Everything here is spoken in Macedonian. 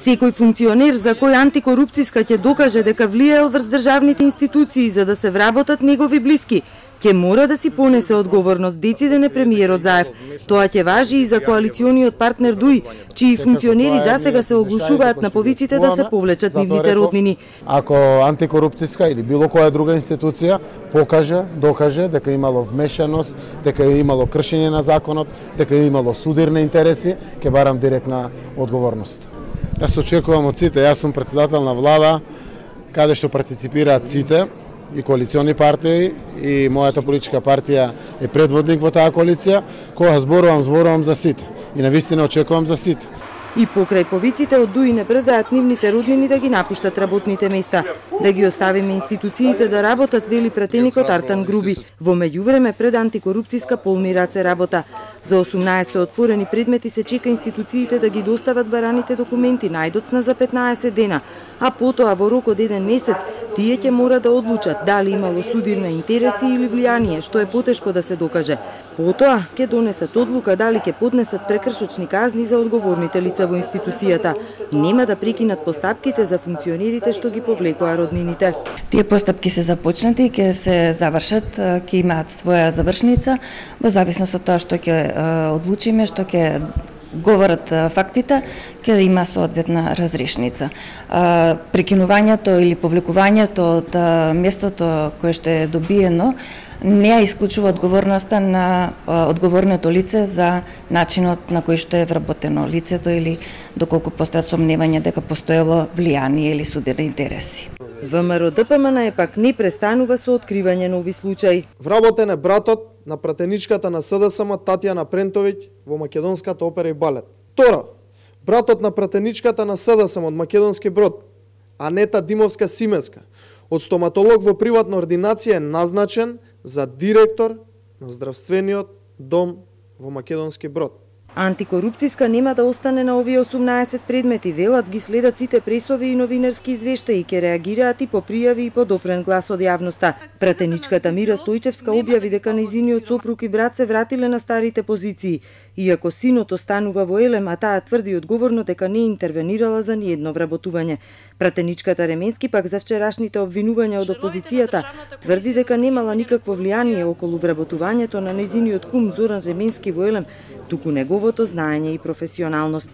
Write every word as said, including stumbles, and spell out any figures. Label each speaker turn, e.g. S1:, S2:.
S1: Секој функционер за кој антикорупцијска ќе докаже дека влијаел врз државните институции за да се вработат негови блиски, ќе мора да си понесе одговорност, дециден е премиерот Заев. Тоа ќе важи и за коалициониот партнер ДУИ, чии функционери засега се оглушуваат на повиците да се повлечат нивните роднини.
S2: Ако антикорупцијска или било која друга институција покаже, докаже дека имало вмешаност, дека е имало кршење на законот, дека е имало судирни интереси, ќе барам директна одговорност. Јас очекувам од сите, јас сум председател на влада, каде што партиципираат сите, и коалициони партии, и мојата политичка партија е предводник во таа коалиција. Кога зборувам, зборувам за сите. И навистина очекувам за сите.
S1: И покрај повиците од ДУИ не брзаат нивните роднини да ги напуштат работните места. Да ги оставиме институциите да работат, вели пратеникот Артан Груби. Во меѓувреме пред антикорупцијска полни раце работа. За осумнаесет отворени предмети се чека институциите да ги достават бараните документи најдоцна за петнаесет дена, а потоа во рок од еден месец тие ќе мора да одлучат дали имало судирни интереси или влијание, што е потешко да се докаже. Потоа ќе донесат одлука дали ќе поднесат прекршочни казни за одговорните лица во институцијата. Нема да прекинат постапките за функционерите што ги повлекоа роднините.
S3: Тие постапки се започнати и ќе се завршат, ќе имаат своја завршница во зависност од тоа што ќе одлучиме, што ќе говорат фактите, ќе има соодветна разрешница. Прекинувањето или повлекувањето од местото кое што е добиено не ја исклучува одговорноста на одговорното лице за начинот на кој што е вработено лицето или доколку постојат сомневања дека постоело влијание или судирни интереси.
S1: ВМРО Д П М Н е пак не престанува со откривање нови случаи.
S4: Вработен е братот на пратеничката на С Д С М Татјана Прентовиќ во македонската опера и балет. Втора, братот на пратеничката на С Д С М од Македонски Брод, Анета Димовска Сименска, од стоматолог во приватна ординација е назначен за директор на здравствениот дом во Македонски Брод.
S1: Антикорупцијска нема да остане на овие осумнаесет предмети, велат ги следат сите пресови и новинарски извештаи и ќе реагираат и по пријави и по допрен глас од јавноста. Пратеничката Мира Стојчевска објави дека нејзиниот сопруг и брат се вратиле на старите позиции, иако синот останува во Елем, а таа тврди одговорно дека не интервенирала за ниедно вработување. Пратеничката Ременски пак за вчерашните обвинувања од опозицијата тврди дека немала никакво влијание околу вработувањето на нејзиниот кум Зоран Ременски во Елем, туку неговото знаење и професионалност.